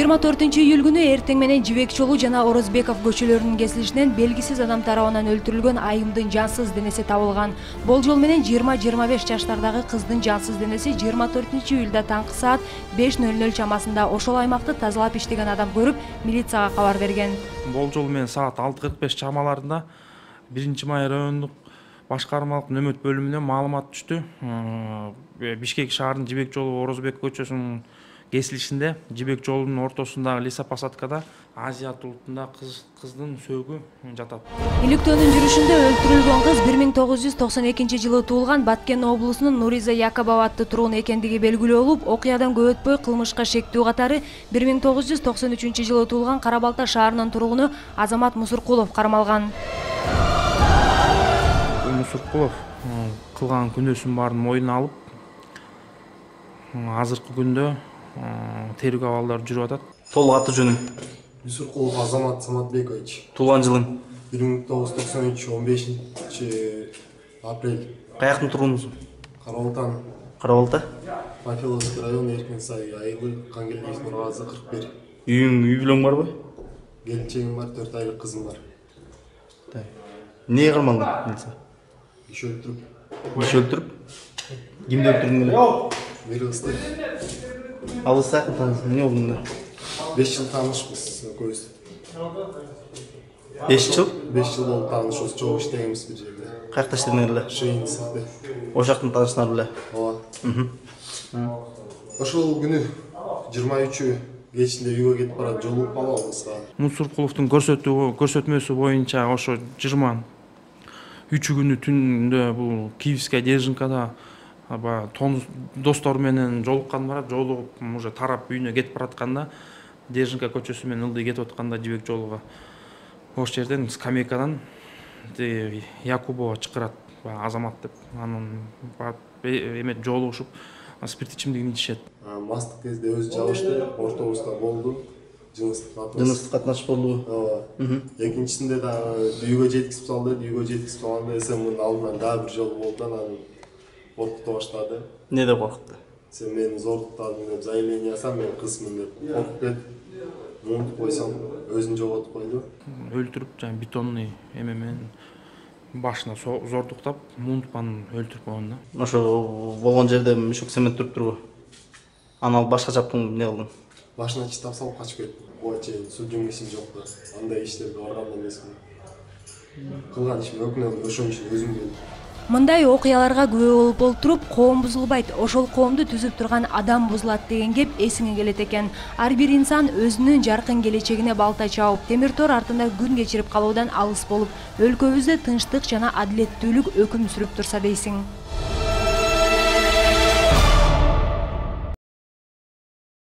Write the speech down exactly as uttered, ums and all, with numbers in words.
жыйырма төртүнчү июль күнү эртең менен Жибек жолу жана Орозбеков көчөлөрүнүн кесилишинен белгисиз адам тарабынан өлтүрүлгөн айымдын жансыз денеси табылган. Болжол менен жыйырма жыйырма беш жаштардагы кыздын жансыз денеси жыйырма төртүнчү июлда таңкы саат беш ноль ноль чамасында ошол аймакты тазалап иштеген адам көрүп, милицияга кабар берген. Болжол менен саат алты кырк беш чамаларында биринчи май райондук башкармалык нөмөт бөлүмүнөн маалымат түштү. Бишкек шаарынын Жибек жолу Орозбек көчөсүнүн кесилишинде Жибек жолунун ортосундагы лесопосадкада Азия улутунда кыз кыздын сөөгү жатат. Иликтөөнүн жүрүшүндө өлтүрүлгөн кыз бир миң тогуз жүз токсон экинчи жылы туулган Баткен облусунун Нуриза Якобова аттуу тургун экендиги белгилүү болуп, окуядан көп өтпөй кылмышка шектүү катары бир миң тогуз жүз токсон үчүнчү жылы туулган Кара Балта шаарынын тургуну Азамат Мусуркулов кармалган. Мусуркулов кылган күнөөсүнүн баарын мойнуна алып, азыркы күндө тергөө абалдары жүрүп атат. Толук аты жөнүң? Мусуркулов Азамат Саматбекович. Туулган жылың? бир миң тогуз жүз токсон үч он бешинчи апрель. Каяктын тургунусуң? Кара Балта. Кара Балта? Панфиловский район, Эркин сай айылы, Кангелдиев Нургазы кырк бир. Үйүң, үй бүлөң барбы? Келинчегим бар, төрт айлык кызым бар. Эмнеге кармалдың? Иш өлтүрүп. Иш өлтүрүп? Кимди өлтүрдүң эле? Бир кызды. Алыса эмне болду? беш жыл таанышпыз экөөбүз. беш жыл? беш жыл болуп таанышыбыз, чогуу иштегенбиз бир жерде. Каякта иштедиң эле? Шейинсизде. Ошол жактан таанышсыңар беле? Ооба. Ошол күнү жыйырма үчү кечинде үйгө кетип барат, жолугуп калабыз. Мусуркуловдун көрсөтүү көрсөтмөсү боюнча ошо жыйырма үчү күнү түндө бул Киевская Держинкада достору менен жолуккан барат, жолугуп уже тарап үйүнө кетип баратканда, Держинка көчөсү менен ылдый кетип атканда Жибек жолуга ошол жерден скамейкадан Якубова чакырат, Азамат деп, анан эме жолугушуп спирт ичимдигин ичишет. Мастык кезде өзү жабышты, ортобузда болду. Жыныстык катнаш. Жыныстык катнаш болду. Ооба. Экинчисинде да үйгө жеткизип салды, үйгө жеткизип салганда СМдин алдынан дагы бир жолу болду, анан коркута баштады. Не деп коркутду? Сен мени зордуктадың деп заявление жасам, мен кызмын деп коркуп кетип, муунтуп койсом, өзүн жоготуп койду. Өлтүрүп, жана бетонный эме менен башына зордуктап, муунтуп анан өлтүрүп койгон да. Ошо болгон жерде мешок цемент туруп турбу? Аны алып башка чаптың, эмне кылдың? Башына читап салып качып кеттим. Буга чейин судьюм ишим жок да. Андай иштерге барган эмесмин. Кылган ишим өкүнөм, ошон үчүн өзүм келдим. Мындай окуяларга күбө болуп олтуруп, коом бузулбайт, ошол коомду түзүп турган адам бузулат деген кеп эсиңе келет экен. Ар бир инсан өзүнүн жаркын келечегине балта чабып, темир тор артында күн кечирип калуудан алыс болуп, өлкөбүздө тынчтык жана адилеттүүлүк өкүм сүрүп турса дейсиң.